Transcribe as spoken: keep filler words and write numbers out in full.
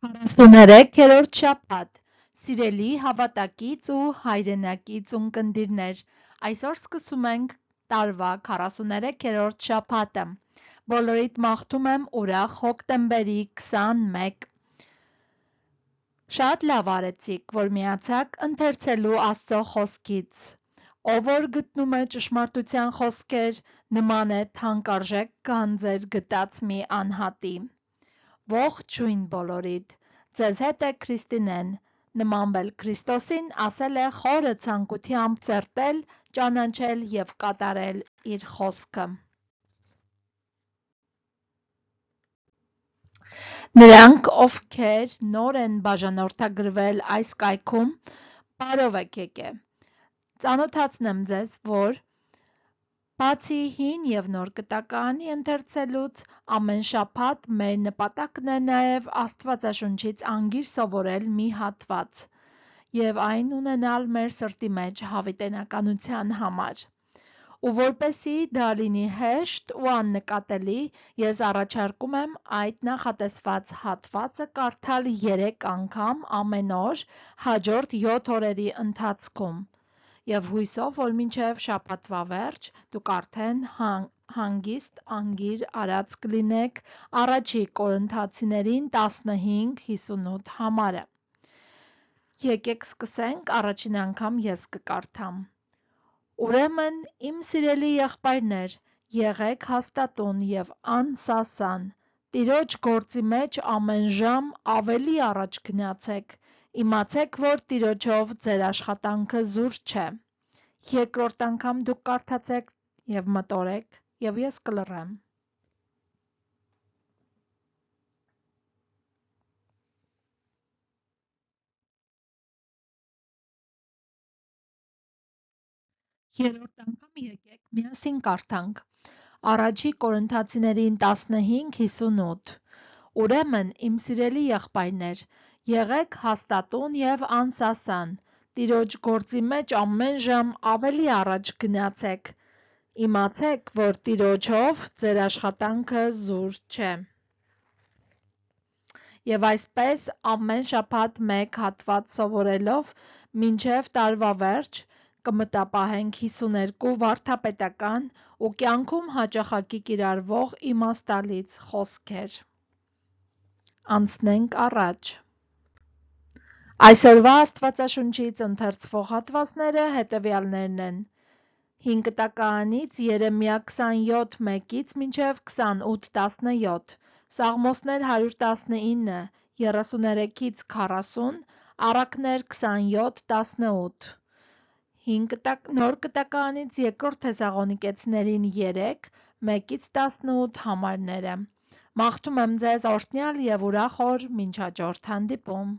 քառասուներեքերորդ շաբաթ Սիրելի հավատակից ու հայրենակից ունկնդիրներ, այսօր սկսում ենք տարվա քառասուներեքերորդ շաբաթը։ Բոլորիդ մաղթում եմ ուրախ հոկտեմբերի քսանմեկ։ Շատ լավ արեցիք, որ միացաք ընթերցելու Աստծո խոսքից։ Ով որ գտնում է ճշմարտության խոսքեր, նման է թանկարժեք գանձեր գտած մի անհատի։ Ողջույն բոլորիդ, ձեզ հետ է Քրիստինեն, նմանվել Քրիստոսին, ասել է խորը ցանկությամբ ծերտել, ճանաչել և կատարել իր խոսքը։ Նրանք, ովքեր նոր են բաժանորդագրվել այս կայքում, բարով եք եկել։ Ծանոթացնեմ ձեզ, որ բացի հին և նոր կտակարանի ընթերցելուց, ամեն շաբաթ մեր նպատակն է նաև Աստվածաշունչից անգիր սովորել մի հատված և այն ունենալ մեր սրտի մեջ հավիտենականության համար։ Ու որպեսզի դա լինի հեշտ ու աննկատելի, ես առաջարկում եմ այդ նախատեսված հատվածը կարդալ երեք անգամ ամեն օր հաջորդ յոթ օրերի ընթացքում։ Եվ հույսով, որ մինչև շաբաթվա վերջ դուք արդեն հանգիստ անգիր արած կլինեք առաջի Կորինթացիներին տասնհինգ հիսունութ համարը։ Եկեք սկսենք, առաջին անգամ ես կկարդամ։ Ուրեմն, իմ սիրելի եղբայրներ, եղեք հաստատուն և անսասան, Տիրոջ գործի մեջ ամեն ժամ ավելի առաջ գնացեք, իմացեք, որ Տիրոջով ձեր աշխատանքը զուր չէ։ Երկրորդ անգամ դուք կարդացեք և մտորեք, և ես կլռեմ։ Երրորդ անգամ եկեք միասին կարդանք։ Առաջի Կորինթացիներին տասնհինգ հիսունութ։ Ուրեմն, իմ սիրելի եղբայրներ, եղեք հաստատուն և անսասան, Տիրոջ գործի մեջ ամեն ժամ ավելի առաջ գնացեք, իմացեք, որ Տիրոջով ձեր աշխատանքը զուր չէ։ Եվ այսպես ամեն շաբաթ մեկ հատված սովորելով մինչև տարվա վերջ կմտապահենք հիսուներկու վարդապետական ու կյանքում հաճախակի կիրառվող իմաստալից խոսքեր։ Անցնենք առաջ։ Այսօրվա Աստվածաշունչից ընթերցվող հատվածները հետևյալներն են. հին կտակարանից Երեմիա քսանյոթ մեկից մինչև քսանութ տասնյոթ, Սաղմոսներ հարյուր տասնինը, երեսուներեքից քառասուն, Առակներ քսանյոթ տասնութ, նոր կտակարանից Երկրորդ Թեսաղոնիկեցիներին երեք, մեկից տասնութ համարները։ Մաղթում եմ ձեզ օրհնյալ և ուրախ օր, մինչ հաջորդ հանդիպում։